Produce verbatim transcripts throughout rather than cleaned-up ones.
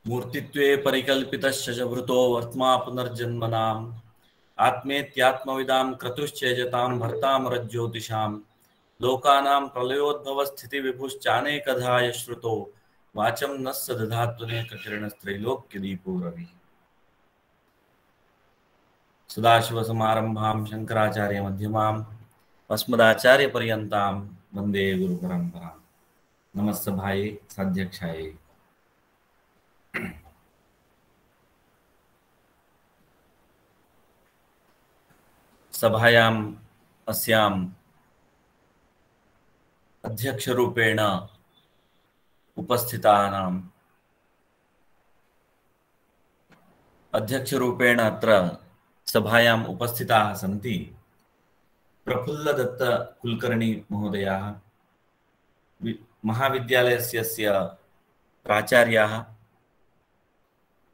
मूर्तित्वे परिकल्पितश्च च भृतो वर्त्मा पुनर्जन्मनाम् आत्मेत्यात्मविदां क्रतुश्चेजतां भर्तामरज्योतिषां लोकानां प्रलयोद्भवस्थितिविभुश्चानेकधा यश्रुतो वाचं नः स दधात्वनेककिरणस्त्रैलोक्यदीपो रविः। सदाशिवसमारम्भां शङ्कराचार्यमध्यमाम् अस्मदाचार्यपर्यन्तां वन्दे गुरुपरम्परां। नमस्सभायै साध्यक्षायै। सभायाम् अस्याम् अध्यक्षरूपेण उपस्थितानाम् अध्यक्षरूपेण अत्र सभायाम् उपस्थिताः सन्ति प्रफुल्लदत्त कुलकर्णी महोदयाः, महाविद्यालयस्य प्राचार्याः,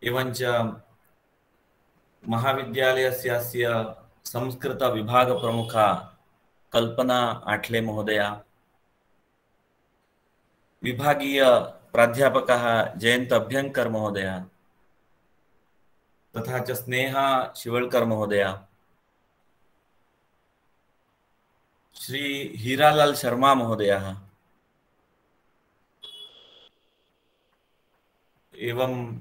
एवञ्च महाविद्यालयस्य संस्कृत विभाग प्रमुखा कल्पना आठले महोदया, विभागीय प्राध्यापकः जयंत अभ्यंकर महोदया, तथा च स्नेहा शिवलकर महोदया, श्री हीरालाल शर्मा महोदयः, एवं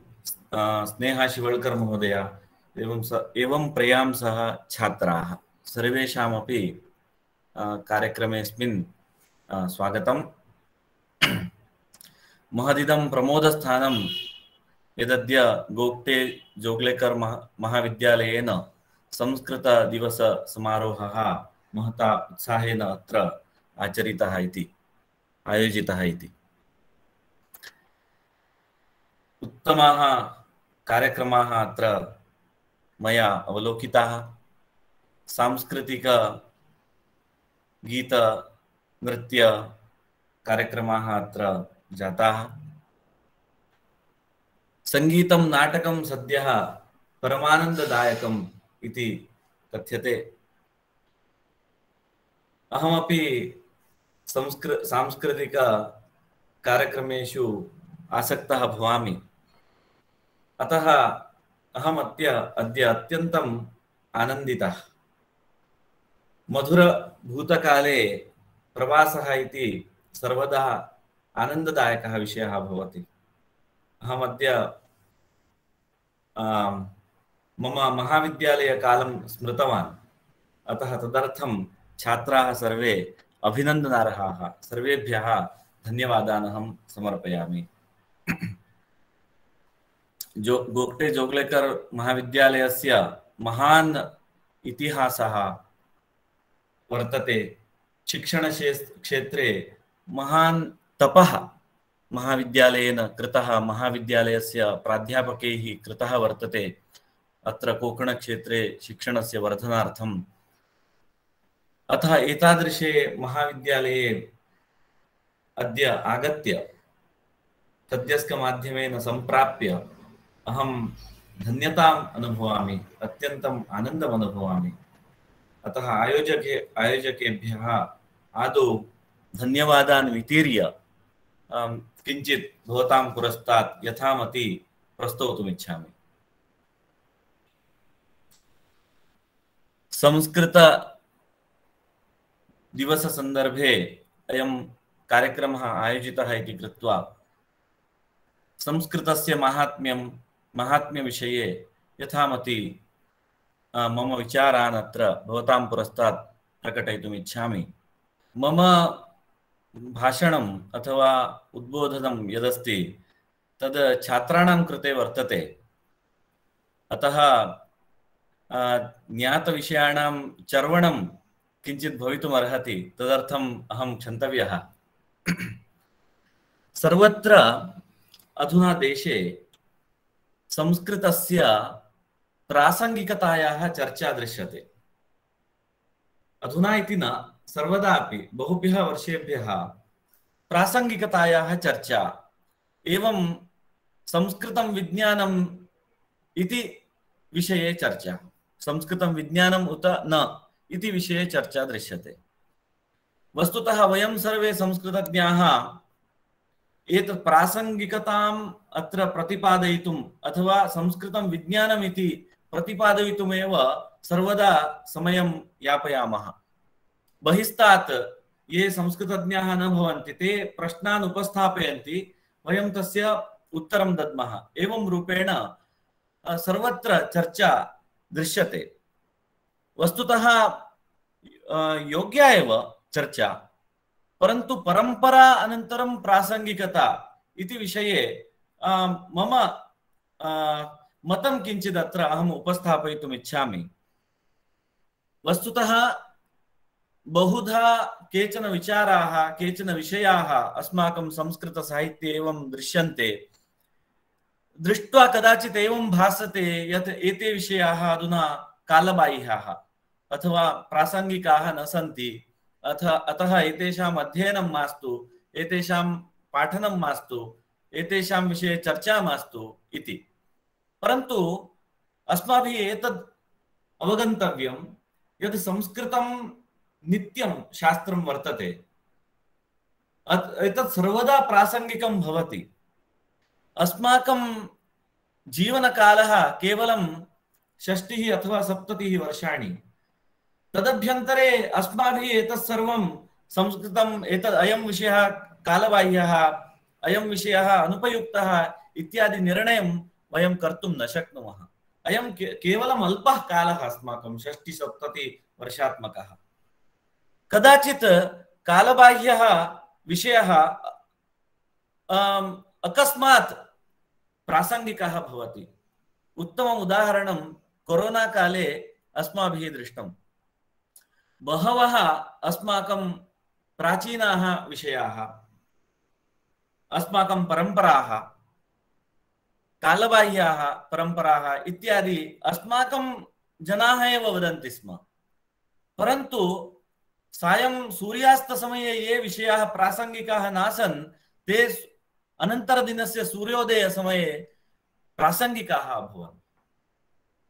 स्नेहा शिवलकर महोदया एवं स एवं प्रयां सह छात्राः सर्वेषामपि कार्यक्रमेऽस्मिन् स्वागतम्। महदिदं प्रमोदस्थानं यदद्य गोगटे जोगलेकर महाविद्यालयेन संस्कृत दिवस समारोहः महता उत्साहेन अत्र आचरितः इति आयोजितः इति उत्तमाः कार्यक्रमाः अत्र मया अवलोकिताः। सांस्कृतिक गीत नृत्य कार्यक्रमाः अत्र जाताः। संगीतं नाटकं सद्यः परमानन्ददायकम् इति कथ्यते। अहमपि संस्कृ सांस्कृतिक कार्यक्रमेषु आसक्तः भवामि। अतः अहम् अद्य अद्य अत्यन्तम् आनन्दितः। मधुरभूतकाले प्रवासः इति सर्वदा आनन्ददायकः विषयः भवति। अहम् अद्य मम महाविद्यालयकालं स्मृतवान्। अतः तदर्थं छात्राः सर्वे अभिनन्दनार्हाः। सर्वेभ्यः धन्यवादान् अहं समर्पयामि। जो गोगटे जोगलेकर महाविद्यालयस्य महान् इतिहासः वर्तते। शिक्षणक्षेत्रे महान् तपः महाविद्यालयेन कृतः, महाविद्यालयस्य प्राध्यापकैः कृतः वर्तते। अत्र कोकणक्षेत्रे शिक्षणस्य वर्धनार्थम्। अतः एतादृशे महाविद्यालये अद्य आगत्य तद्यस्कमाध्यमेन सम्प्राप्य अहं धन्यताम् अनुभवामि, अत्यन्तम् आनन्दम् अनुभवामि। अतः आयोजके आयोजकेभ्यः आदौ धन्यवादान् वितीर्य किञ्चित् भवतां पुरस्तात् यथामति प्रस्तोतुमिच्छामि। संस्कृत दिवस संदर्भे अयं कार्यक्रमः आयोजितः इति कृत्वा संस्कृतस्य माहात्म्यं माहात्म्यविषये यथामति मम विचारान् अत्र भवतां पुरस्तात् प्रकटयितुम् इच्छामि। मम भाषणम् अथवा उद्बोधनं यदस्ति तद् छात्राणां कृते वर्तते। अतः ज्ञातविषयाणां चर्वणं किञ्चित् भवितुम् अर्हति। तदर्थम् अहं क्षन्तव्यः। सर्वत्र अधुना देशे संस्कृतस्य प्रासंगिकतायाः चर्चा दृश्यते। अधुना इति न, सर्वदापि बहुभ्यः वर्षेभ्यः प्रासंगिकतायाः चर्चा, एवं संस्कृतं विज्ञानम् इति विषये चर्चा, संस्कृतं विज्ञानम् उत न इति विषये चर्चा दृश्यते। वस्तुतः वयं सर्वे संस्कृतज्ञाः एतत् प्रासंगिकताम् अत्र प्रतिपादयितुम् अथवा संस्कृतं विज्ञानम् इति प्रतिपादयितुमेव सर्वदा समयं यापयामः। बहिस्तात् ये संस्कृतज्ञाः न भवन्ति ते प्रश्नान् उपस्थापयन्ति, वयं तस्य उत्तरं दद्मः। एवं रूपेण सर्वत्र चर्चा दृश्यते। वस्तुतः योग्या एव चर्चा, परन्तु परंपरा अनन्तरं प्रासंगिकता इति विषये मम मतं किञ्चित् अत्र अहम् उपस्थापयितुम् इच्छामि। वस्तुतः बहुधा केचन विचाराः केचन विषयाः अस्माकं संस्कृतसाहित्ये एवं दृश्यन्ते। दृष्ट्वा कदाचित् एवं भासते यत् एते विषयाः अधुना कालबाह्याः अथवा प्रासंगिकाः न सन्ति, अथ अतः एतेषाम् अध्ययनं मास्तु, एतेषां पाठनं मास्तु, एतेषां विषये चर्चा मास्तु इति। परन्तु अस्माभिः एतद् अवगन्तव्यं यत् संस्कृतं नित्यं शास्त्रं वर्तते, एतत् सर्वदा प्रासंगिकं भवति। अस्माकं जीवनकालः केवलं षष्टिः अथवा सप्ततिः वर्षाणि। तदभ्यन्तरे अस्माभिः एतत् सर्वं संस्कृतम् एतत् अयं विषयः कालबाह्यः, अयं विषयः अनुपयुक्तः इत्यादि निर्णयं वयं कर्तुं न शक्नुमः। अयं केवलम् अल्पः कालः अस्माकं षष्टि सप्तति वर्षात्मकः। कदाचित् कालबाह्यः विषयः अकस्मात् प्रासंगिकः भवति। उत्तमम् उदाहरणं कोरोना काले अस्माभिः दृष्टम्। बहवः अस्माकं प्राचीनाः विषयाः, अस्माकं परम्पराः, कालबाह्याः परम्पराः इत्यादि अस्माकं जनाः एव वदन्ति स्म। परन्तु सायं सूर्यास्तसमये ये विषयाः प्रासंगिकाः नासन् ते अनन्तरदिनस्य सूर्योदयसमये प्रासंगिकाः अभवन्।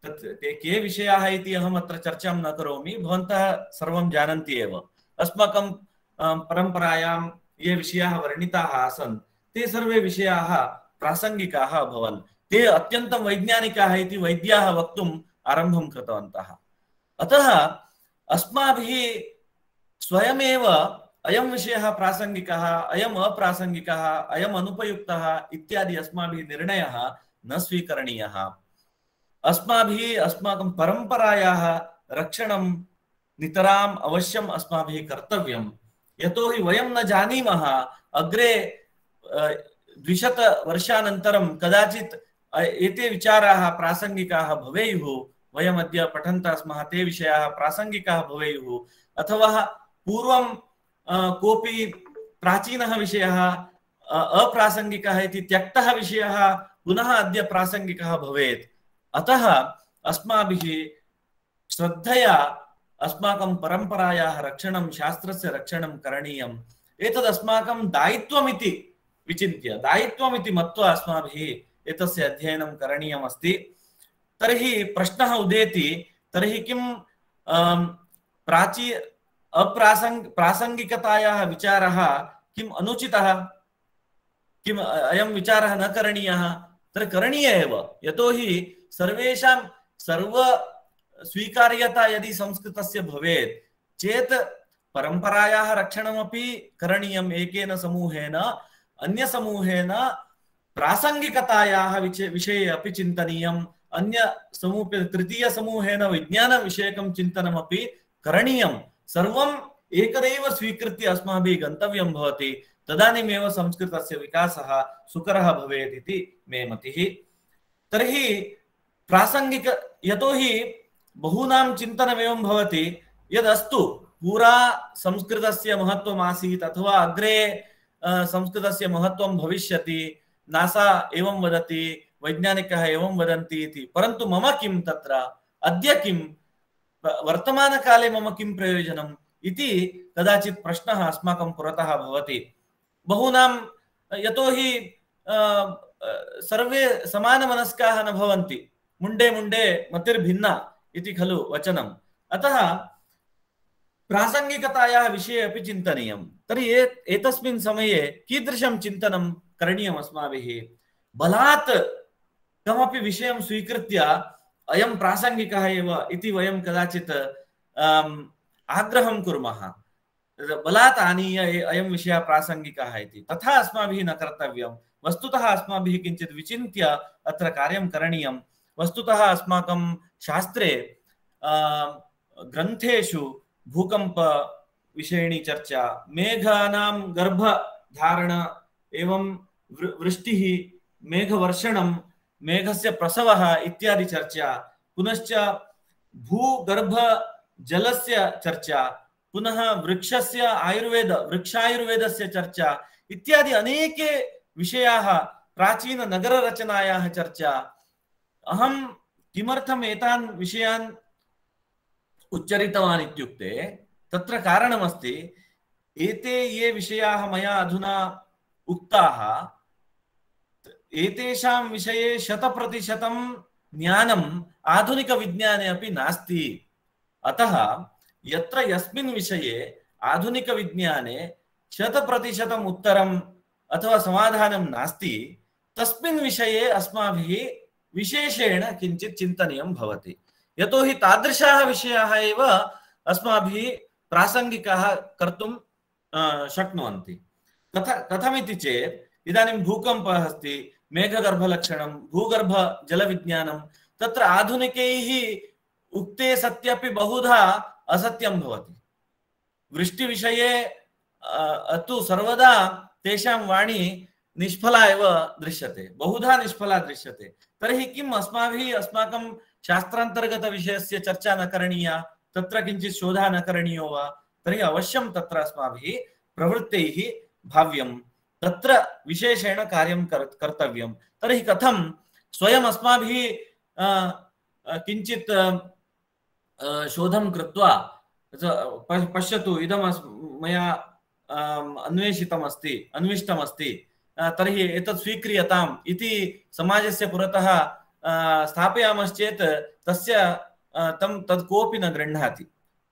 तत् ते के विषयाः इति अहम् अत्र चर्चां न करोमि, भवन्तः सर्वं जानन्ति एव। अस्माकं परम्परायां ये विषयाः वर्णिताः आसन् ते सर्वे विषयाः प्रासंगिकाः अभवन्। ते अत्यन्तं वैज्ञानिकाः इति वैद्याः वक्तुम् आरम्भं कृतवन्तः। अतः अस्माभिः स्वयमेव अयं विषयः प्रासंगिकः, अयम् अप्रासंगिकः, अयम् अनुपयुक्तः इत्यादि अस्माभिः निर्णयः न स्वीकरणीयः। अस्माभिः अस्माकं परम्परायाः रक्षणं नितराम् अवश्यम् अस्माभिः कर्तव्यं। यतोहि वयं न जानीमः अग्रे द्विशत वर्षानन्तरं कदाचित् एते विचाराः प्रासंगिकाः भवेयुः। वयम् अद्य पठन्तः स्मः, ते विषयाः प्रासंगिकाः भवेयुः, अथवा पूर्वं कोऽपि प्राचीनः विषयः अप्रासंगिकः इति त्यक्तः विषयः पुनः अद्य प्रासंगिकः भवेत्। अतः अस्माभिः श्रद्धया अस्माकं परम्परायाः रक्षणं, शास्त्रस्य रक्षणं करणीयम्। एतद् अस्माकं दायित्वमिति विचिन्त्य, दायित्वमिति मत्वा अस्माभिः एतस्य अध्ययनं करणीयम् अस्ति। तर्हि प्रश्नः उदेति, तर्हि किं प्राची अप्रासंग प्रासंगिकतायाः विचारः किम् अनुचितः, किम् अयं विचारः न करणीयः? तर्हि करणीय एव। यतोहि सर्वेषां सर्व स्वीकार्यता यदि संस्कृतस्य भवेत् चेत् परम्परायाः रक्षणमपि करणीयम् एकेन समूहेन, अन्य समूहेन प्रासंगिकतायाः विषये अपि चिन्तनीयम्, अन्य समूहे तृतीय समूहेन विज्ञानविषयकं चिन्तनमपि करणीयम्। सर्वम् एकदैव स्वीकृत्य अस्माभिः गन्तव्यं भवति। तदानीमेव संस्कृतस्य विकासः सुकरः भवेत् इति मे मतिः। तर्हि प्रासंगिक, यतोहि बहूनां चिन्तनमेवं भवति यदस्तु पुरा संस्कृतस्य महत्त्वम् आसीत् अथवा अग्रे संस्कृतस्य महत्त्वं भविष्यति, नासा एवं वदति, वैज्ञानिकाः एवं वदन्ति इति। परन्तु मम किं तत्र, अद्य किं, वर्तमानकाले मम किं प्रयोजनम् इति कदाचित् प्रश्नः अस्माकं पुरतः भवति। बहूनां, यतोहि सर्वे समानमनस्काः न भवन्ति, मुण्डे मुण्डे मतिर्भिन्ना इति खलु वचनम्। अतः प्रासंगिकतायाः विषये अपि चिन्तनीयम्। तर्हि एतस्मिन् समये कीदृशं चिन्तनं करणीयम् अस्माभिः बलात् कमपि विषयं स्वीकृत्य अयं प्रासंगिकः एव इति वयं कदाचित् आग्रहं कुर्मः बलात् आनीय अयं विषयः प्रासंगिकः इति तथा अस्माभिः न कर्तव्यं वस्तुतः अस्माभिः किञ्चित् विचिन्त्य अत्र कार्यं करणीयं वस्तुतः अस्माकं शास्त्रे ग्रन्थेषु भूकंप विषयिणी चर्चा मेघानां गर्भधारण एवं वृष्टिः मेघवर्षणं मेघस्य प्रसवः इत्यादि चर्चा पुनश्च भूगर्भ जलस्य चर्चा पुनः वृक्षस्य आयुर्वेद वृक्षायुर्वेदस्य चर्चा इत्यादि अनेके विषयाः प्राचीन नगररचनायाः चर्चा अहं किमर्थम् एतान् विषयान् उच्चरितवान् इत्युक्ते तत्र कारणमस्ति एते ये विषयाः मया अधुना उक्ताः एतेषां विषये शतप्रतिशतं ज्ञानम् आधुनिकविज्ञाने अपि नास्ति अतः यत्र यस्मिन् विषये आधुनिकविज्ञाने शतप्रतिशतम् उत्तरम् अथवा समाधानं नास्ति तस्मिन् विषये अस्माभिः विशेषेण किञ्चित् चिन्तनीयं भवति यतोहि तादृशाः विषयाः एव अस्माभिः प्रासंगिकाः कर्तुं शक्नुवन्ति कथ कथमिति चेत् इदानीं भूकम्पः अस्ति मेघगर्भलक्षणं भूगर्भजलविज्ञानं तत्र आधुनिकैः उक्ते सत्यपि बहुधा असत्यं भवति वृष्टिविषये तु सर्वदा तेषां वाणी निष्फला एव दृश्यते बहुधा निष्फला दृश्यते तर्हि किम् अस्माभिः अस्माकं शास्त्रान्तर्गतविषयस्य चर्चा न करणीया तत्र किञ्चित् शोधः न करणीयो वा तर्हि अवश्यं तत्र अस्माभिः प्रवृत्तैः भाव्यं तत्र विशेषेण कार्यं कर्तव्यं तर्हि कथं स्वयम् अस्माभिः किञ्चित् शोधं कृत्वा पश्यतु इदं मया अन्वेषितमस्ति अन्विष्टमस्ति तर्हि एतत् स्वीक्रियताम् इति समाजस्य पुरतः स्थापयामश्चेत् तस्य तं तत् कोऽपि न गृह्णाति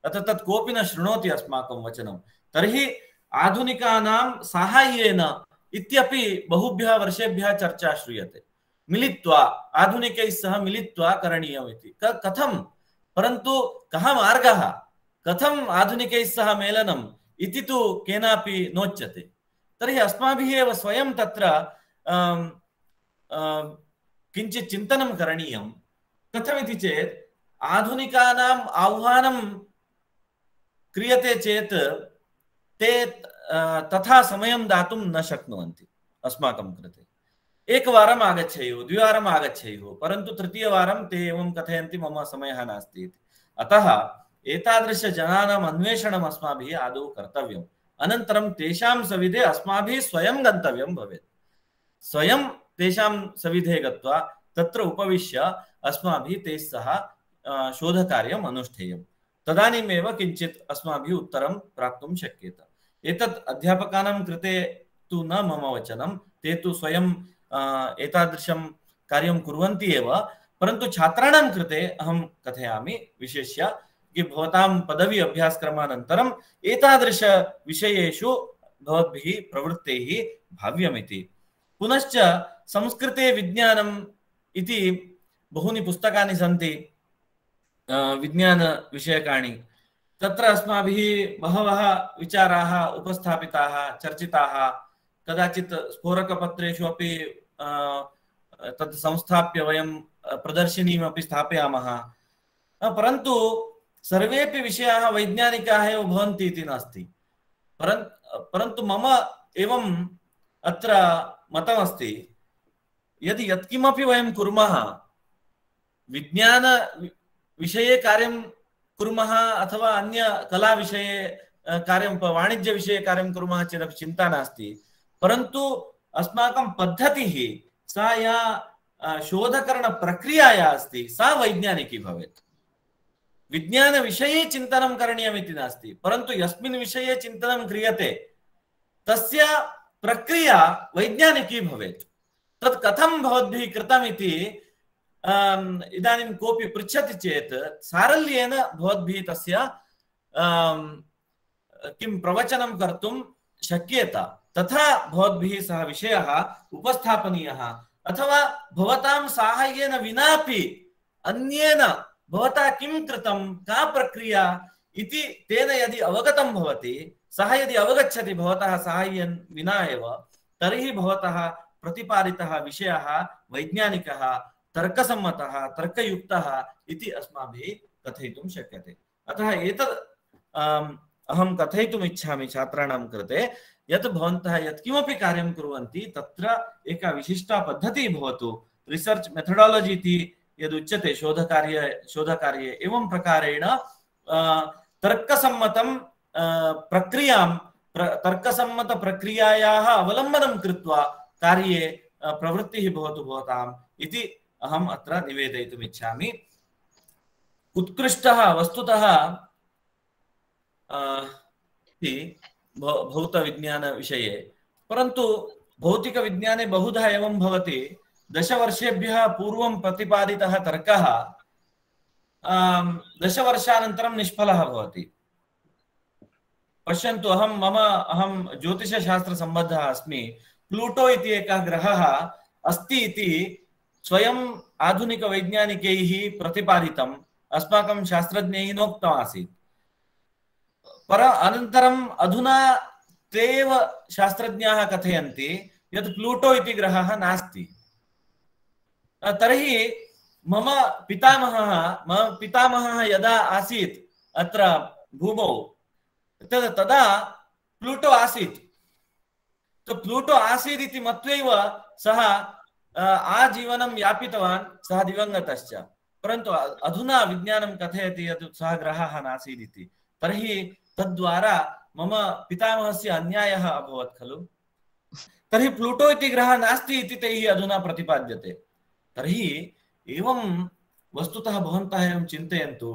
अतः तत् कोऽपि न शृणोति अस्माकं वचनं तर्हि आधुनिकानां साहाय्येन इत्यपि बहुभ्यः वर्षेभ्यः चर्चा श्रूयते मिलित्वा आधुनिकैः सह मिलित्वा करणीयम् इति कथं परन्तु कः मार्गः कथम् आधुनिकैः सह मेलनम् इति तु केनापि नोच्यते तर्हि अस्माभिः एव स्वयं तत्र किञ्चित् चिन्तनं करणीयं कथमिति चेत् आधुनिकानाम् आह्वानं क्रियते चेत् ते तथा समयं दातुं न शक्नुवन्ति अस्माकं कृते एकवारम् आगच्छेयुः द्विवारम् आगच्छेयुः परन्तु तृतीयवारं ते एवं कथयन्ति मम समयः नास्ति इति अतः एतादृशजनानाम् अन्वेषणम् अस्माभिः आदौ कर्तव्यम् अनन्तरं तेषां सविधे अस्माभिः स्वयं गन्तव्यं भवेत् स्वयं तेषां सविधे गत्वा तत्र उपविश्य अस्माभिः तैः सह शोधकार्यम् अनुष्ठेयं तदानीमेव किञ्चित् अस्माभिः उत्तरं प्राप्तुं शक्येत एतत् अध्यापकानां कृते तु न मम वचनं ते तु स्वयं एतादृशं कार्यं कुर्वन्ति एव परन्तु छात्राणां कृते अहं कथयामि विशेष्य कि भवतां पदवी अभ्यासक्रमानन्तरम् एतादृश विषयेषु भवद्भिः प्रवृत्तैः भाव्यमिति पुनश्च संस्कृते विज्ञानम् इति बहूनि पुस्तकानि सन्ति विज्ञानविषयकाणि तत्र अस्माभिः बहवः विचाराः उपस्थापिताः चर्चिताः कदाचित् स्फोरकपत्रेषु अपि तत् संस्थाप्य वयं प्रदर्शिनीमपि स्थापयामः परन्तु सर्वेपि विषयाः वैज्ञानिकाः एव भवन्ति इति नास्ति परन्तु मम एवम् अत्र मतमस्ति यदि यत्किमपि वयं कुर्मः विज्ञान विषये कार्यं कुर्मः अथवा अन्य कला विषये कार्यं वाणिज्य विषये कार्यं कुर्मः चेदपि चिन्ता नास्ति परन्तु अस्माकं पद्धतिः सा या शोधकरण प्रक्रिया या अस्ति सा वैज्ञानिकी भवेत् विज्ञान विषये चिन्तनं करणीयमिति नास्ति परन्तु यस्मिन् विषये चिन्तनं क्रियते तस्य प्रक्रिया वैज्ञानिकी भवेत् तत् कथं भवद्भिः कृतमिति इदानीं कोऽपि पृच्छति चेत् सारल्येन भवद्भिः तस्य किं प्रवचनं कर्तुं शक्येत तथा भवद्भिः सः विषयः उपस्थापनीयः अथवा भवतां साहाय्येन विनापि अन्येन भवता किं कृतं का प्रक्रिया इति तेन यदि अवगतं भवति सः यदि अवगच्छति भवतः साहाय्येन विना एव तर्हि भवतः प्रतिपादितः विषयः वैज्ञानिकः तर्कसम्मतः तर्कयुक्तः इति अस्माभिः कथयितुं शक्यते। अतः एतद् अहं कथयितुम् इच्छामि छात्राणां कृते यत् भवन्तः यत्किमपि कार्यं कुर्वन्ति तत्र एका विशिष्टा पद्धतिः भवतु। रिसर्च मेथडोलॉजी इति यदुच्यते शोधकार्ये शोधकार्ये एवं प्रकारेण तर्कसम्मतं प्रक्रियां प्र, तर्कसम्मत प्रक्रियायाः अवलम्बनं कृत्वा कार्ये प्रवृत्तिः भवतु भवताम् इति अहम् अत्र निवेदयितुम् इच्छामि। उत्कृष्टः वस्तुतः भौतविज्ञान विषये, परन्तु भौतिकविज्ञाने बहुधा एवं भवति दशवर्षेभ्यः पूर्वं प्रतिपादितः तर्कः दशवर्षानन्तरं निष्फलः भवति। पश्यन्तु अहं मम अहं ज्योतिषशास्त्रसम्बद्धः अस्मि। प्लूटो इति एकः ग्रहः अस्ति इति स्वयं आधुनिकवैज्ञानिकैः प्रतिपादितम् अस्माकं शास्त्रज्ञैः नोक्तम् आसीत्। पर अनन्तरम् अधुना ते एव शास्त्रज्ञाः कथयन्ति यत् प्लूटो इति ग्रहः नास्ति। तर्हि मम पितामहः मम पितामहः यदा आसीत् अत्र भूमौ तद् तदा प्लूटो आसीत्। तो प्लूटो आसीत् इति मत्वैव सः आजीवनं यापितवान्, सः दिवङ्गतश्च। परन्तु अधुना विज्ञानं कथयति यत् सः ग्रहः नासीत् इति। तर्हि तद्वारा मम पितामहस्य अन्यायः अभवत् खलु। तर्हि प्लूटो इति ग्रहः नास्ति इति तैः अधुना प्रतिपाद्यते। तर्हि एवं वस्तुतः भवन्तः एवं चिन्तयन्तु।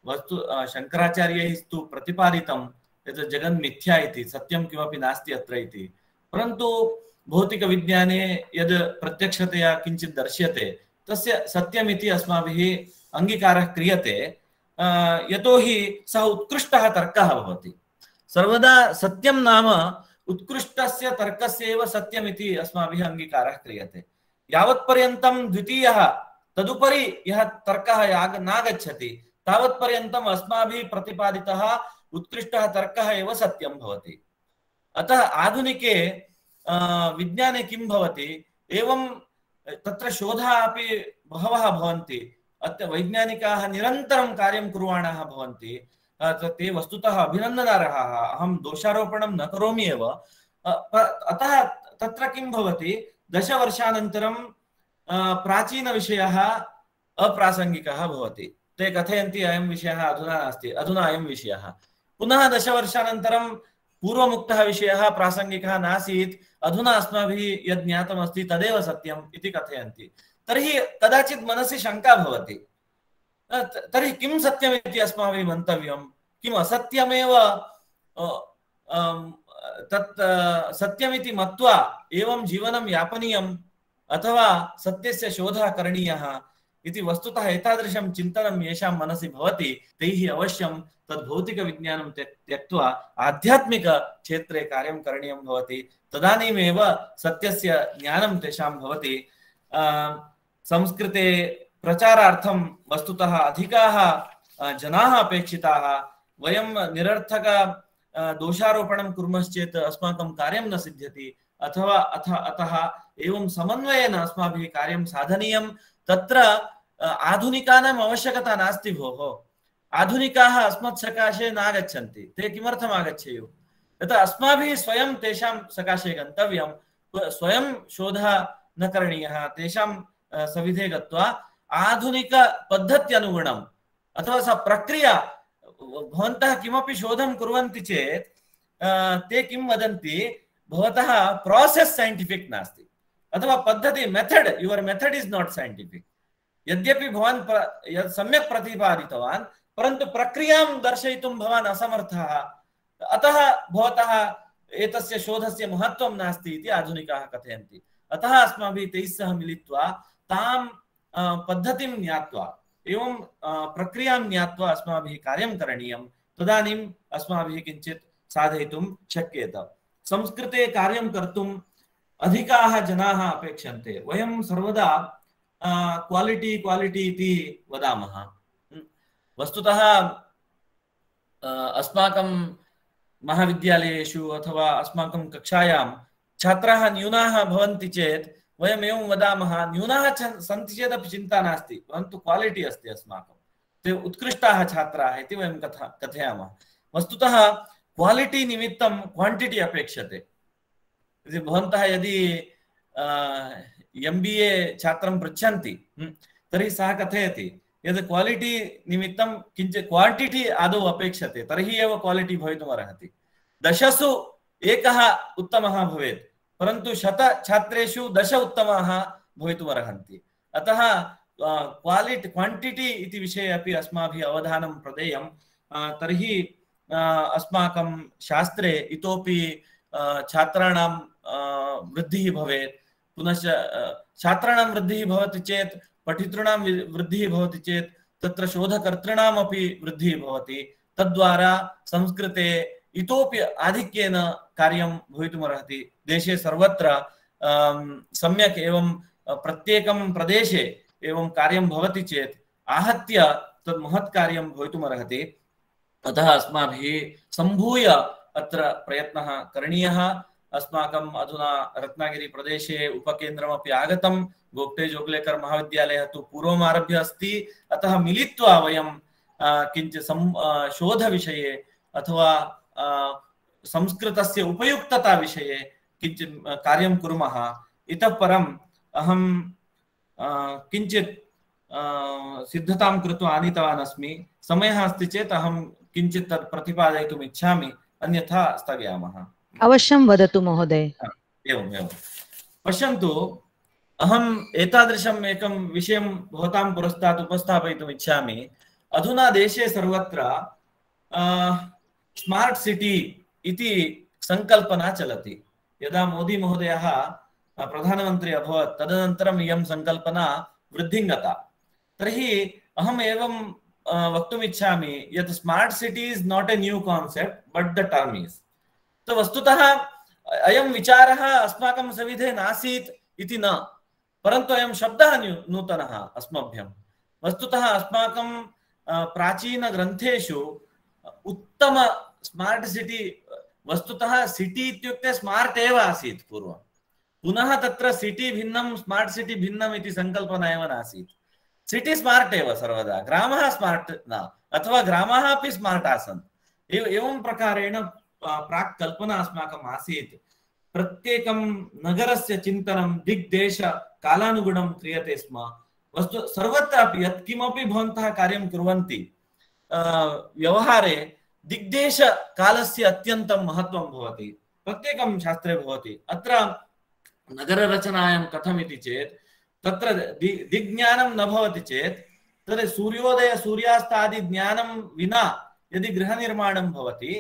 वस्तु शङ्कराचार्यैः तु प्रतिपादितं यत् जगन्मिथ्या इति, सत्यं किमपि नास्ति अत्र इति। परन्तु भौतिकविज्ञाने यद् प्रत्यक्षतया किञ्चित् दर्श्यते तस्य सत्यमिति अस्माभिः अङ्गीकारः क्रियते। यतोहि सः उत्कृष्टः तर्कः भवति। सर्वदा सत्यं नाम उत्कृष्टस्य तर्कस्य एव सत्यमिति अस्माभिः अङ्गीकारः क्रियते। यावत्पर्यन्तं द्वितीयः तदुपरि यः तर्कः नागच्छति तावत्पर्यन्तम् अस्माभिः प्रतिपादितः उत्कृष्टः तर्कः एव सत्यं भवति। अतः आधुनिके विज्ञाने किं भवति, एवं तत्र शोधाः अपि बहवः भवन्ति। अत्र वैज्ञानिकाः निरन्तरं कार्यं कुर्वाणाः भवन्ति। ते वस्तुतः अभिनन्दनार्हाः। अहं दोषारोपणं न करोमि एव। अतः तत्र किं भवति, दशवर्षानन्तरं प्राचीनविषयः अप्रासङ्गिकः भवति। ते कथयन्ति अयं विषयः अधुना नास्ति, अधुना अयं विषयः। पुनः दशवर्षानन्तरं पूर्वमुक्तः विषयः प्रासङ्गिकः नासीत्, अधुना अस्माभिः यद् ज्ञातमस्ति तदेव सत्यम् इति कथयन्ति। तर्हि कदाचित् मनसि शङ्का भवति, तर्हि किं सत्यम् इति अस्माभिः मन्तव्यं, किम् असत्यमेव तत् सत्यमिति मत्वा एवं जीवनं यापनीयम् अथवा सत्यस्य शोधः करणीयः इति वस्तुतः एतादृशं चिन्तनं येषां मनसि भवति तैः अवश्यं तद् भौतिकविज्ञानं त्यक्त्वा आध्यात्मिकक्षेत्रे कार्यं करणीयं भवति। तदानीमेव सत्यस्य ज्ञानं तेषां भवति। संस्कृते प्रचारार्थं वस्तुतः अधिकाः जनाः अपेक्षिताः। वयं निरर्थक दोषारोपणं कुर्मश्चेत् अस्माकं कार्यं न सिद्ध्यति। अथवा अथ अतः एवं समन्वयेन अस्माभिः कार्यं साधनीयं। तत्र आधुनिकानाम् आवश्यकता नास्ति भोः। आधुनिकाः अस्मत् सकाशे नागच्छन्ति। ते किमर्थम् आगच्छेयुः? यतः अस्माभिः स्वयं तेषां सकाशे गन्तव्यं। स्वयं शोधः न करणीयः। तेषां सविधे गत्वा आधुनिकपद्धत्यनुगुणम् अथवा सा प्रक्रिया, भवन्तः किमपि शोधं कुर्वन्ति चेत् ते किं वदन्ति, भवतः प्रोसेस् सैन्टिफिक् नास्ति अथवा पद्धति method, your method is not scientific. यद्यपि भवान् यत् सम्यक् प्रतिपादितवान् परन्तु प्रक्रियां दर्शयितुं भवान् असमर्थः। अतः भवतः एतस्य शोधस्य महत्त्वं नास्ति इति आधुनिकाः कथयन्ति। अतः अस्माभिः तैः सह मिलित्वा तां पद्धतिं ज्ञात्वा एवं प्रक्रियां ज्ञात्वा अस्माभिः कार्यं करणीयं। तदानीम् अस्माभिः किञ्चित् साधयितुं शक्येत। संस्कृते कार्यं कर्तुम् अधिकाः जनाः अपेक्षन्ते। वयं सर्वदा क्वालिटी क्वालिटी इति वदामः। वस्तुतः अस्माकं महाविद्यालयेषु अथवा अस्माकं कक्षायां छात्राः न्यूनाः भवन्ति चेत् वयम् एवं वदामः, न्यूनाः सन्ति चेदपि चिन्ता नास्ति, परन्तु क्वालिटी अस्ति अस्माकं, ते उत्कृष्टाः छात्राः इति वयं कथा कथयामः। वस्तुतः क्वालिटी निमित्तं क्वांटिटी अपेक्षते। भवन्तः यदि एम् बी ए छात्रं पृच्छन्ति तर्हि सः कथयति यद् क्वालिटी निमित्तं किञ्चित् क्वांटिटी आदौ अपेक्षते, तर्हि एव क्वालिटी भवितुमर्हति। दशसु एकः उत्तमः भवेत्, परन्तु शत छात्रेषु दश उत्तमाः भवितुमर्हन्ति। अतः क्वालिटी क्वांटिटी इति विषये अपि अस्माभिः अवधानं प्रदेयं। तर्हि अस्माकं शास्त्रे इतोपि छात्राणां वृद्धिः भवेत्। पुनश्च छात्राणां वृद्धिः भवति चेत्, पठितॄणां वृद्धिः भवति चेत् तत्र शोधकर्तॄणामपि वृद्धिः भवति। तद्वारा संस्कृते इतोपि आधिक्येन कार्यं भवितुमर्हति। देशे सर्वत्र सम्यक् एवं प्रत्येकं प्रदेशे एवं कार्यं भवति चेत् आहत्य तद् महत् कार्यं भवितुमर्हति। अतः अस्माभिः सम्भूय अत्र प्रयत्नः करणीयः। अस्माकम् अधुना रत्नागिरी प्रदेशे उपकेन्द्रमपि आगतं। गोगटे जोगलेकर महाविद्यालयः तु पूर्वम् आरभ्य अस्ति। अतः मिलित्वा वयं किञ्चित् शोधविषये अथवा संस्कृतस्य उपयुक्तता विषये किञ्चित् कार्यं कुर्मः। इतः परम् अहं किञ्चित् सिद्धतां कृत्वा आनीतवान् अस्मि। समयः अस्ति चेत् अहं किञ्चित् तत् प्रतिपादयितुम् इच्छामि, अन्यथा स्थगयामः। अवश्यं वदतु महोदय। एवम् एवं पश्यन्तु, अहम् एतादृशम् एकं विषयं भवतां पुरस्तात् उपस्थापयितुम् इच्छामि। अधुना देशे सर्वत्र स्मार्ट् सिटी इति संकल्पना चलति। यदा मोदी महोदयः प्रधानमन्त्री अभवत् तदनन्तरम् इयं संकल्पना वृद्धिं गता। तर्हि अहम् एवं वक्तुम् इच्छामि यत् smart city is not a new concept but the term is. तो वस्तुतः अयं विचारः अस्माकं सविधे नासीत् इति न, परन्तु अयं शब्दः नूतनः अस्मभ्यं। वस्तुतः अस्माकं प्राचीनग्रन्थेषु उत्तम स्मार्ट सिटी, वस्तुतः सिटी इत्युक्ते स्मार्ट एव आसीत् पूर्वं। पुनः तत्र सिटी भिन्नं स्मार्ट सिटी भिन्नम् इति संकल्पना एव नासीत्। सिटी स्मार्ट एव सर्वदा, ग्रामः स्मार्ट न, अथवा ग्रामाः अपि स्मार्ट आसन्। एवं प्रकारेण प्राक् कल्पना अस्माकम् आसीत्। प्रत्येकं नगरस्य चिन्तनं दिग्देश कालानुगुणं क्रियते स्म। वस्तु सर्वत्रापि यत् किमपि भवन्तः कार्यं कुर्वन्ति व्यवहारे दिग्देश कालस्य अत्यन्तं महत्त्वं भवति। प्रत्येकं शास्त्रे भवति। अत्र नगररचनायां कथम् इति चेत् तत्र दिग्ज्ञानं न भवति चेत् तद् सूर्योदय सूर्यास्तादि ज्ञानं विना यदि गृहनिर्माणं भवति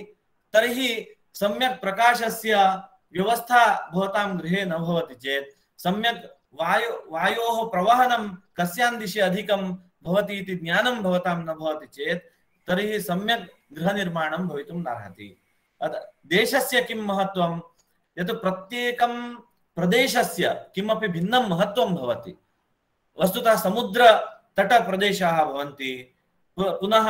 तर्हि सम्यक् प्रकाशस्य व्यवस्था भवतां गृहे न भवति चेत्, सम्यक् वायु वायोः प्रवहनं कस्यां दिशि अधिकं भवति इति ज्ञानं भवतां न भवति चेत् तर्हि सम्यक् गृहनिर्माणं भवितुं नार्हति। देशस्य किं महत्त्वं यत् प्रत्येकं प्रदेशस्य किमपि भिन्नं महत्त्वं भवति। वस्तुतः समुद्रतटप्रदेशाः भवन्ति, पुनः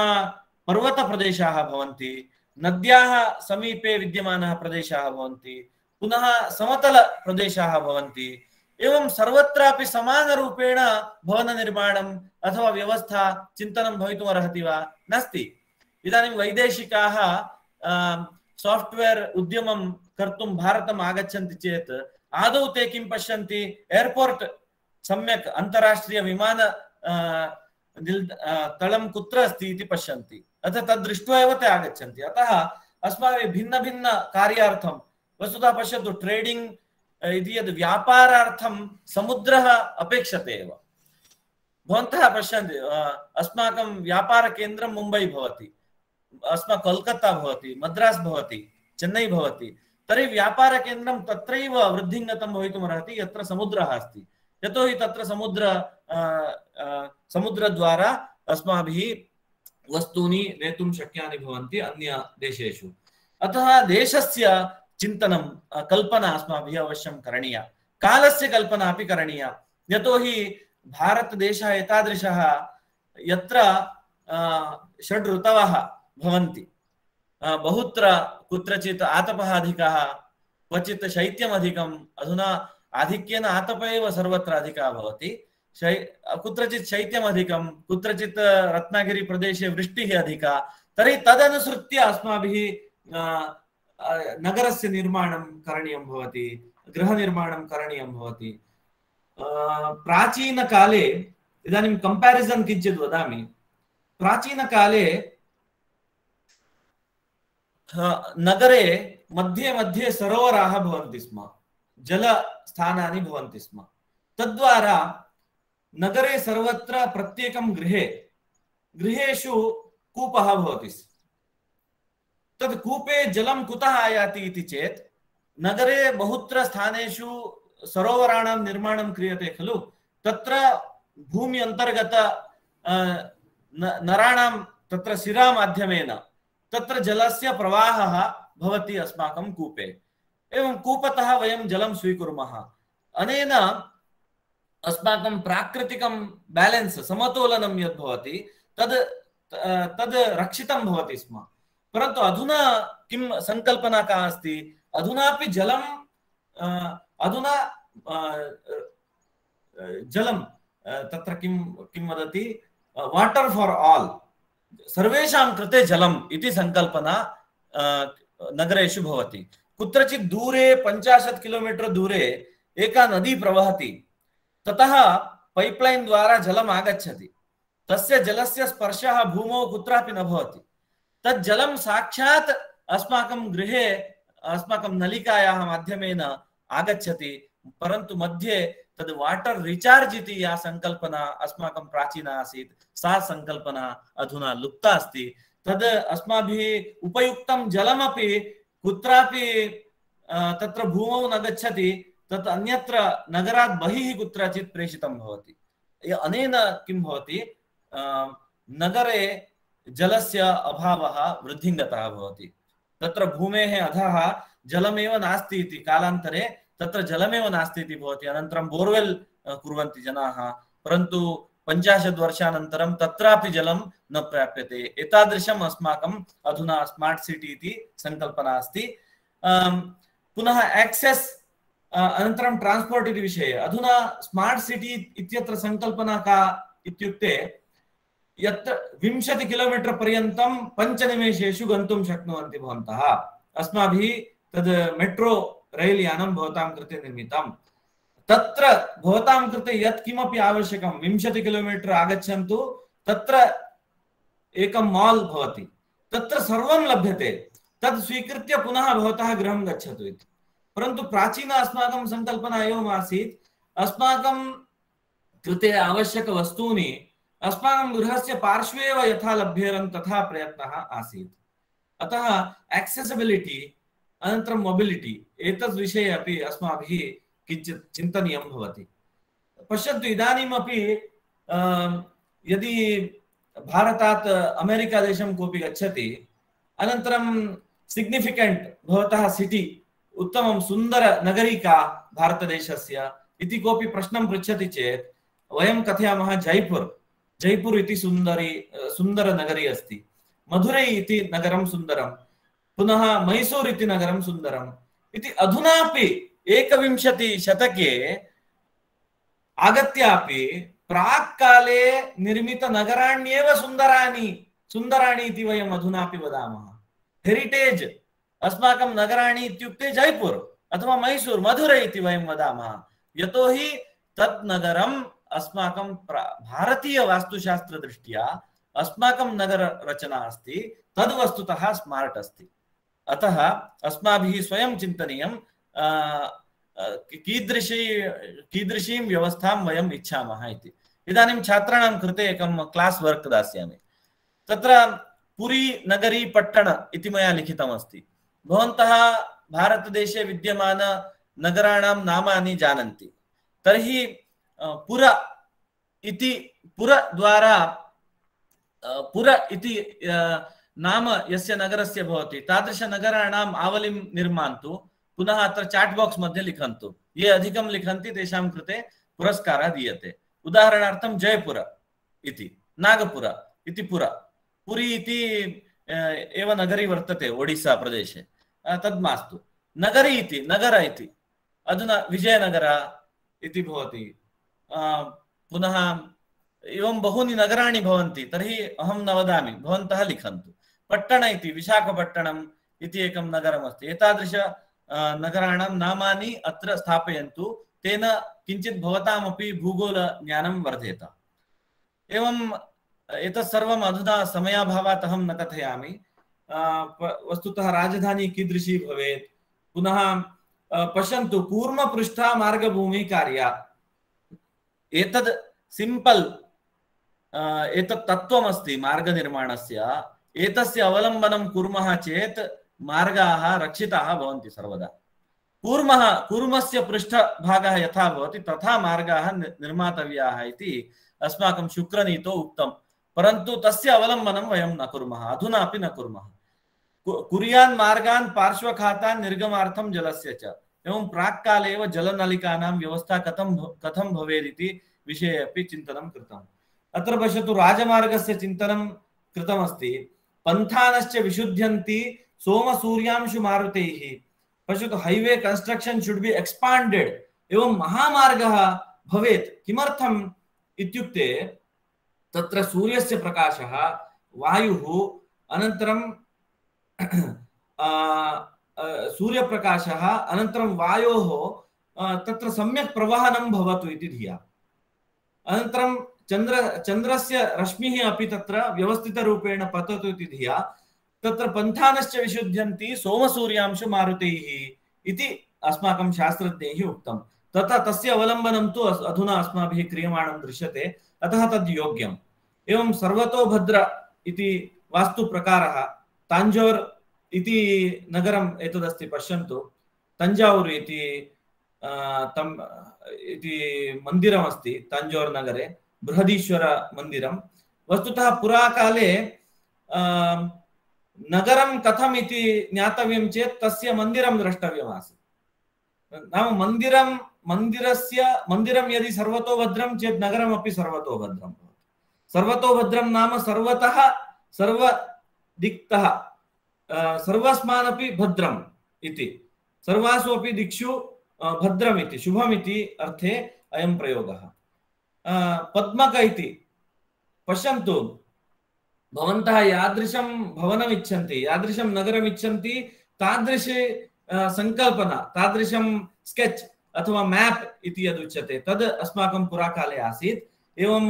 पर्वतप्रदेशाः भवन्ति, नद्याः समीपे विद्यमानाः प्रदेशाः भवन्ति, पुनः समतलप्रदेशाः भवन्ति। एवं सर्वत्रापि समानरूपेण भवननिर्माणम् अथवा व्यवस्था चिन्तनं भवितुमर्हति वा? नास्ति। इदानीं वैदेशिकाः साफ्ट्वेर् उद्यमं कर्तुं भारतम् आगच्छन्ति चेत् आदौ ते किं पश्यन्ति? एर्पोर्ट् सम्यक् अन्ताराष्ट्रिय विमान तलं कुत्र अस्ति इति पश्यन्ति। अतः तद् दृष्ट्वा एव ते आगच्छन्ति। अतः अस्माभिः भिन्नभिन्न कार्यार्थं, वस्तुतः पश्यतु, ट्रेडिंग इति यद् व्यापारार्थं समुद्रः अपेक्षते एव। भवन्तः पश्यन्ति, अस्माकं व्यापारकेन्द्रं मुम्बै भवति, अस्माकं कोल्कत्ता भवति, मद्रास् भवति, चेन्नै भवति। तर्हि व्यापारकेन्द्रं तत्रैव वृद्धिं गतं भवितुमर्हति यत्र समुद्रः अस्ति। यतोहि तत्र समुद्र समुद्रद्वारा अस्माभिः वस्तूनि नेतुं शक्यानि भवन्ति अन्य देशेषु। अतः देशस्य चिन्तनं कल्पना अस्माभिः अवश्यं करणीया, कालस्य कल्पना अपि करणीया। यतोहि भारतदेशः एतादृशः यत्र षड् ऋतवः भवन्ति, बहुत्र कुत्रचित् आतपः अधिकः, क्वचित् शैत्यम् अधिकम्, अधुना आधिक्येन आतपः एव सर्वत्र अधिकः भवति, शै कुत्रचित् शैत्यम् अधिकं, कुत्रचित् रत्नागिरी प्रदेशे वृष्टिः अधिका। तर्हि तदनुसृत्य अस्माभिः नगरस्य निर्माणं करणीयं भवति, गृहनिर्माणं करणीयं भवति। प्राचीनकाले, इदानीं कंपैरिजन किञ्चित् वदामि, प्राचीनकाले नगरे मध्ये मध्ये सरोवराः भवन्ति स्म, जलस्थानानि भवन्ति स्म। तद्वारा नगरे सर्वत्र प्रत्येकं गृहे गृहेषु कूपः भवति। तद् कूपे जलं कुतः आयाति इति चेत् नगरे बहुत्र स्थानेषु सरोवराणां निर्माणं क्रियते खलु, तत्र भूमि अन्तर्गत नराणां तत्र शिरामाध्यमेन तत्र जलस्य प्रवाहः भवति अस्माकं कूपे। एवं कूपतः वयं जलं स्वीकुर्मः। अनेन अस्माकं प्राकृतिकं बैलेंस, समतोलनं यद् भवति तद् तद् रक्षितं भवति स्म। परन्तु अधुना किं संकल्पना का अस्ति, अधुनापि जलं अधुना जलं तत्र किं किं वदति, वाटर फॉर ऑल, सर्वेषां कृते जलम् इति संकल्पना नगरेषु भवति। कुत्रचित् दूरे पञ्चाशत् किलोमीटर् दूरे एका नदी प्रवहति, ततः पाइपलाइन द्वारा जलम् आगच्छति, तस्य जलस्य स्पर्शः भूमौ कुत्रापि न भवति। तत् जलं साक्षात् अस्माकं गृहे अस्माकं नलिकायाः माध्यमेन आगच्छति, परन्तु मध्ये तद् वाटर रिचार्ज इति या संकल्पना अस्माकं प्राचीना आसीत्, सा संकल्पना अधुना लुप्ता अस्ति। तद् अस्माभिः उपयुक्तं जलमपि कुत्रापि तत्र भूमौ न गच्छति, तत् अन्यत्र नगरात् बहिः कुत्रचित् प्रेषितं भवति। अनेन किं भवति, नगरे जलस्य अभावः वृद्धिङ्गतः भवति। तत्र भूमेः अधः जलमेव नास्ति इति, कालान्तरे तत्र जलमेव नास्ति इति भवति। अनन्तरं बोर्वेल् कुर्वन्ति जनाः, परन्तु पञ्चाशत् वर्षानन्तरं तत्रापि जलं न प्राप्यते। एतादृशम् अस्माकम् अधुना स्मार्ट् सिटी इति संकल्पना अस्ति। पुनः एक्सेस्, अनन्तरं ट्रान्स्पोर्ट् इति विषये अधुना स्मार्ट् सिटी इत्यत्र संकल्पना का इत्युक्ते, यत्र विंशति किलोमीटर् पर्यन्तं पञ्चनिमेषेषु गन्तुं शक्नुवन्ति भवन्तः। अस्माभिः तद् मेट्रो रैल् यानं भवतां कृते निर्मितं। तत्र भवतां कृते यत् किमपि आवश्यकं, विंशति किलोमीटर् आगच्छन्तु, तत्र एकं माल् भवति, तत्र सर्वं लभ्यते, तद् स्वीकृत्य पुनः भवतः गृहं गच्छतु इति। परन्तु प्राचीन अस्माकं संकल्पना एवम् आसीत्, अस्माकं कृते आवश्यकवस्तूनि अस्माकं गृहस्य पार्श्वे एव यथा लभ्येरन् तथा प्रयत्नः आसीत्। अतः एक्सेसिबिलिटी अनन्तरं मोबिलिटी एतद् विषये अपि अस्माभिः किञ्चित् चिन्तनीयं भवति। पश्यन्तु, इदानीमपि यदि भारतात् अमेरिका देशं कोऽपि गच्छति, अनन्तरं सिग्निफिकेंट भवतः सिटी, उत्तमं सुन्दर नगरी का भारतदेशस्य इति कोऽपि प्रश्नं पृच्छति चेत् वयं कथयामः जयपुर जयपुर इति सुन्दरी सुन्दर नगरी अस्ति, मधुरै इति नगरं सुन्दरं, पुनः मैसूर इति नगरं सुन्दरम् इति। अधुनापि एकविंशति शतके आगत्यापि प्राक् काले निर्मित नगराण्येव सुन्दराणि सुन्दराणि इति वयम् अधुनापि वदामः। हेरिटेज अस्माकं नगराणि इत्युक्ते जयपुर अथवा मैसूर, मधुरै इति वयं वदामः, यतोहि तत् नगरम् अस्माकं भारतीय वास्तुशास्त्र दृष्ट्या अस्माकं नगर रचना अस्ति, तद् वस्तुतः स्मार्ट अस्ति। अतः अस्माभिः स्वयं चिन्तनीयं कीदृशी कीदृशीं व्यवस्थां वयम् इच्छामः इति। इदानीं छात्राणां कृते एकं क्लास् वर्क् दास्यामि। तत्र पुरी नगरी पट्टण इति मया लिखितमस्ति। भवन्तः भारतदेशे विद्यमान नगराणां नामानि जानन्ति, तर्हि पुर इति पुर द्वारा पुर इति नाम यस्य नगरस्य भवति तादृश नगराणाम् आवलिं निर्मान्तु। पुनः अत्र चाट् बाक्स् मध्ये लिखन्तु। ये अधिकं लिखन्ति तेषां कृते पुरस्कारः दीयते। उदाहरणार्थं जयपुर इति, नागपुर इति पुर, पुरी इति एव नगरी वर्तते ओडिस्सा प्रदेशे, तद् मास्तु। नगरी इति, नगर इति, अधुना विजयनगर इति भवति। पुनः एवं बहूनि नगराणि भवन्ति, तर्हि अहं न वदामि, भवन्तः लिखन्तु। पट्टण इति, विशाखपट्टणम् इति एकं नगरमस्ति। एतादृश नगराणां नामानि अत्र स्थापयन्तु, तेन किञ्चित् भवतामपि भूगोलज्ञानं वर्धेत। एवं एतत् सर्वम् अधुना समयाभावात् अहं न कथयामि। वस्तुतः राजधानी कीदृशी भवेत्, पुनः पश्यन्तु कूर्मपृष्ठा मार्गभूमि कार्या, एतद् सिंपल एतत् तत्त्वमस्ति मार्गनिर्माणस्य। एतस्य अवलम्बनं कुर्मः चेत् मार्गाः रक्षिताः भवन्ति सर्वदा। कूर्मः कूर्मस्य पृष्ठभागः यथा भवति तथा मार्गाः निर्मातव्याः इति अस्माकं शुक्रनीतौ उक्तं, परन्तु तस्य अवलम्बनं वयं न कुर्मः, अधुना अपि न कुर्मः। कुर्यान् मार्गान् पार्श्वखातान् निर्गमार्थं जलस्य च। एवं प्राक्काले एव जलनलिकानां व्यवस्था कथं कथं भवेदिति विषये अपि चिन्तनं कृतम्। अत्र पश्यतु राजमार्गस्य चिन्तनं कृतमस्ति। पन्थानश्च विशुध्यन्ति सोमसूर्यांशु मारुतैः। पश्यतु highway construction should be expanded, एवं महामार्गः भवेत्। किमर्थम् इत्युक्ते तत्र सूर्यस्य प्रकाशः, वायुः, अनन्तरं सूर्यप्रकाशः, अनन्तरं वायोः तत्र सम्यक् प्रवहनं भवतु इति धिया। अनन्तरं चन्द्र चन्द्रस्य रश्मिः अपि तत्र व्यवस्थितरूपेण पततु इति धिया तत्र पन्थानश्च विशुध्यन्ति सोमसूर्यांशु मारुतैः इति अस्माकं शास्त्रज्ञैः उक्तं। तथा तस्य अवलम्बनं तु अधुना अस्माभिः क्रियमाणं दृश्यते, अतः तद् योग्यम्। एवं सर्वतोभद्र इति वास्तुप्रकारः, ताञ्जोर् इति नगरम् एतदस्ति, पश्यन्तु। तञ्जावूर् इति तम् इति मन्दिरमस्ति तञ्जोर् नगरे, बृहदीश्वर मन्दिरं। वस्तुतः पुराकाले नगरं कथम् इति ज्ञातव्यं चेत् तस्य मन्दिरं द्रष्टव्यम् आसीत्। नाम मन्दिरं मन्दिरस्य मन्दिरं यदि सर्वतोभद्रं चेत् नगरमपि सर्वतोभद्रं भवति। सर्वतोभद्रं नाम सर्वतः सर्वदिक्तः सर्वस्मानपि भद्रम् इति, सर्वासु अपि दिक्षु भद्रम् इति, शुभम् इति अर्थे अयं प्रयोगः। पद्मक इति पश्यन्तु, भवन्तः यादृशं भवनम् इच्छन्ति, यादृशं नगरम् इच्छन्ति, तादृशी संकल्पना, तादृशं स्केच अथवा मैप इति यदुच्यते तद् अस्माकं पुराकाले आसीत्। एवं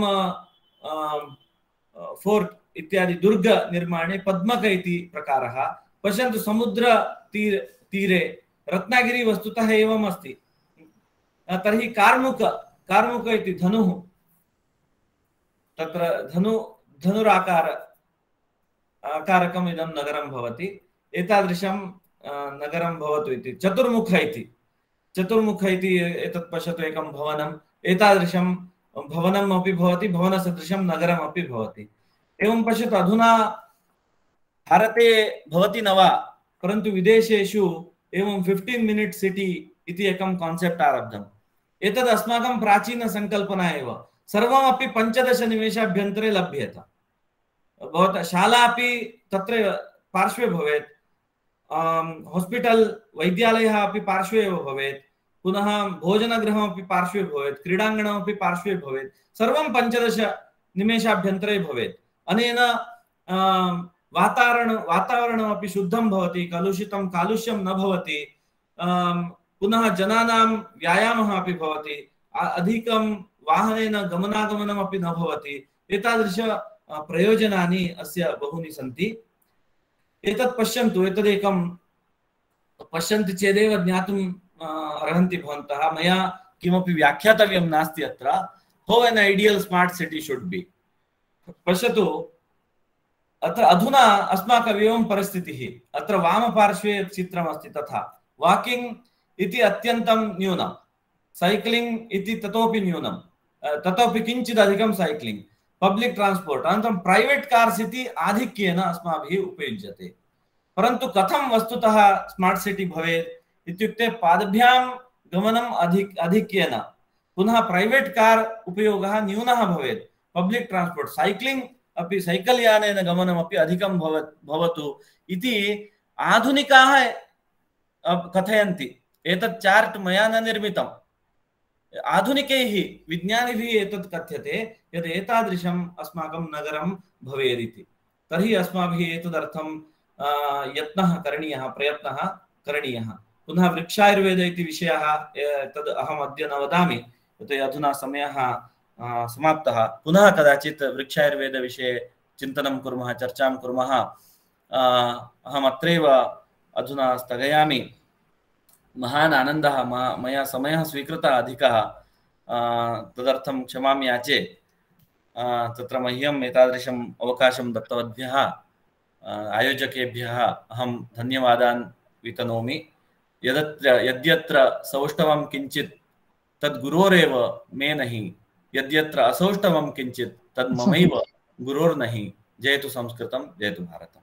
फोर्ट इत्यादि दुर्ग निर्माणे पद्मक इति प्रकारः। पश्यन्तु समुद्र तीर तीरे रत्नागिरी वस्तुतः एवम् अस्ति। तर्हि कार्मुक कार्मुक इति धनुः, तत्र धनु धनुराकार आकारकम् इदं नगरं भवति। एतादृशं नगरं भवतु इति। चतुर्मुख इति चतुर्मुख इति एतत् पश्यतु, एकं भवनम्, एतादृशं भवनम् अपि भवति, भवनसदृशं नगरम् अपि भवति। एवं पश्यतु, अधुना भारते भवति न वा, परन्तु विदेशेषु एवं फिफ्टीन् मिनिट् सिटी इति एकं कान्सेप्ट् आरब्धम्। एतद् अस्माकं प्राचीनसङ्कल्पना एव। सर्वमपि पञ्चदश निमेषाभ्यन्तरे लभ्येत। भवतः शाला अपि तत्र पार्श्वे भवेत्, हॉस्पिटल वैद्यालयः अपि पार्श्वे एव भवेत्, पुनः भोजनगृहमपि पार्श्वे भवेत्, क्रीडाङ्गणमपि पार्श्वे भवेत्, सर्वं पञ्चदश निमेषाभ्यन्तरे भवेत्। अनेन वातावरण वातावरणमपि शुद्धं भवति, कलुषितं कालुष्यं न भवति, पुनः जनानां व्यायामः अपि भवति, अधिकं वाहनेन गमनागमनमपि न भवति। एतादृश प्रयोजनानि अस्य बहूनि सन्ति। एतत् पश्यन्तु, एतदेकं पश्यन्ति चेदेव ज्ञातुं अर्हन्ति भवन्तः। मया किमपि व्याख्यातव्यं नास्ति अत्र। How an ideal smart city should be. पश्यतु, अत्र अधुना अस्माकम् एवं परिस्थितिः। अत्र वामपार्श्वे यत् चित्रमस्ति तथा वाकिंग इति अत्यन्तं न्यूनं, साइक्लिंग इति ततोपि न्यूनं, ततोपि किञ्चित् अधिकं साइक्लिंग, पब्लिक ट्रांसपोर्ट, अनन्तरं प्राइवेट कार्स् इति आधिक्येन अस्माभिः उपयुज्यते। परन्तु कथं वस्तुतः स्मार्ट सिटी भवेत् इत्युक्ते पादभ्यां गमनम् अधिक आधिक्येन पुनः प्रैवेट् कार् उपयोगः न्यूनः भवेत् पब्लिक् ट्रान्स्पोर्ट् सैक्लिङ्ग् अपि सैकल् यानेन गमनमपि अधिकं भवतु इति आधुनिकाः कथयन्ति। एतत् चार्ट् मया न निर्मितम्, आधुनिकैः विज्ञानिभिः एतत् कथ्यते यत् एतादृशम् अस्माकं नगरं भवेदिति। तर्हि अस्माभिः एतदर्थं यत्नः करणीयः, प्रयत्नः करणीयः। पुनः वृक्षायुर्वेद इति विषयः तद् अहम् अद्य न वदामि, यतोहि अधुना समयः समाप्तः। पुनः कदाचित् वृक्षायुर्वेदविषये चिन्तनं कुर्मः, चर्चां कुर्मः। अहम् अत्रैव अधुना स्थगयामि। महान् आनन्दः, मया समयः स्वीकृतः अधिकः, तदर्थं क्षमां याचे। तत्र मह्यम् एतादृशम् अवकाशं दत्तवद्भ्यः आयोजकेभ्यः अहं धन्यवादान् वितनोमि। यदत्र यद्यत्र सौष्ठवं किञ्चित् तद् गुरोरेव मे नहि, यद्यत्र असौष्ठवं किञ्चित् तद् ममैव गुरोर्नहि। जयतु संस्कृतं, जयतु भारतम्।